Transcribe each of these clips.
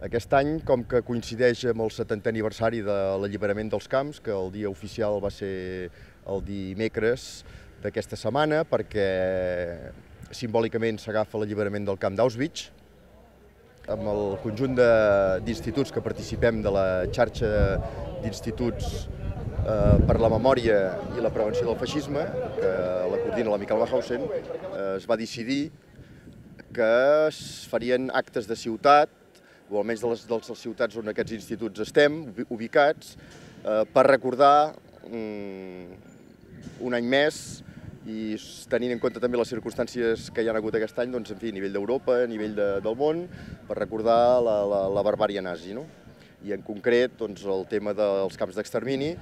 Aquest any, com que coincideix amb el 70è aniversari de l'alliberament dels camps, que el dia oficial va ser el dimecres d'aquesta setmana, perquè simbòlicament s'agafa l'alliberament del camp d'Auschwitz, amb el conjunt d'instituts que participem de la xarxa d'instituts per la memòria i la prevenció del feixisme, que la coordina la Michael Wachhausen, es va decidir que es farien actes de ciutat, o almenys de les ciutats on aquests instituts estem ubicats, per recordar un any més i tenint en compte també les circumstàncies que hi ha hagut aquest any, doncs, en fi, a nivell d'Europa, a nivell del món, per recordar la barbària nazi, no? I en concret doncs, el tema dels camps d'extermini,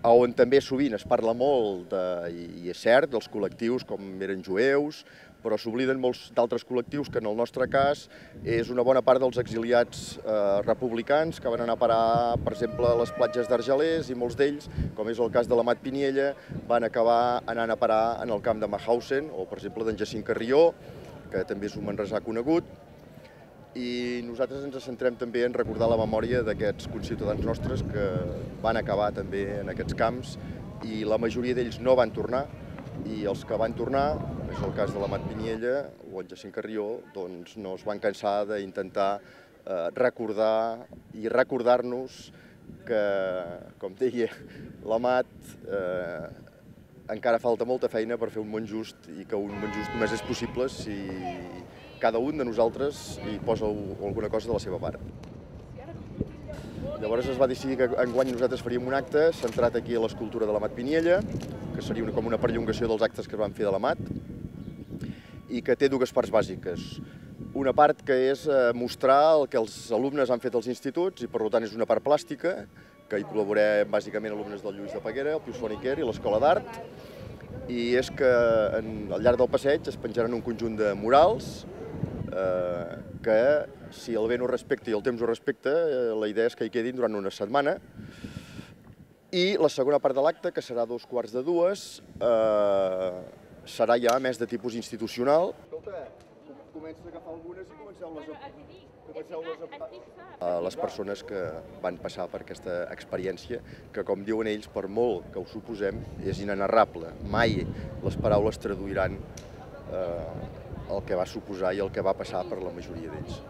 on també sovint es parla molt, i és cert, dels col·lectius com eren jueus, però s'obliden molts d'altres col·lectius que en el nostre cas és una bona part dels exiliats republicans que van anar a parar, per exemple, a les platges d'Argelers, i molts d'ells, com és el cas de l'Amat Piniella, van acabar anant a parar en el camp de Mauthausen, o per exemple d'en Jacint Carrió, que també és un manresà conegut, i nosaltres ens centrem també en recordar la memòria d'aquests conciutadans nostres que van acabar també en aquests camps, i la majoria d'ells no van tornar, i els que van tornar, com és el cas de l'Amat Piniella o en Jacint Carrió, doncs no es van cansar d'intentar recordar i recordar-nos que, com deia l'Amat, encara falta molta feina per fer un món just, i que un món just només és possible si cada un de nosaltres hi posa alguna cosa de la seva part. Llavors es va decidir que enguany nosaltres faríem un acte centrat aquí a l'escultura de l'Amat Piniella, que seria com una perllongació dels actes que es van fer de l'Amat, i que té dues parts bàsiques. Una part que és mostrar el que els alumnes han fet als instituts, i per tant és una part plàstica, que hi col·laborem bàsicament alumnes del Lluís de Peguera, el Pius Font-i-Quer i l'Escola d'Art, i és que al llarg del passeig es penjaran un conjunt de murals que, si el vent ho respecta i el temps ho respecta, la idea és que hi quedin durant una setmana. I la segona part de l'acte, que serà a 2:45, serà ja més de tipus institucional. Escolta, comences a agafar algunes i comenceu-les a les persones que van passar per aquesta experiència, que, com diuen ells, per molt que ho suposem, és inenarrable. Mai les paraules traduiran el que va suposar i el que va passar per la majoria d'ells.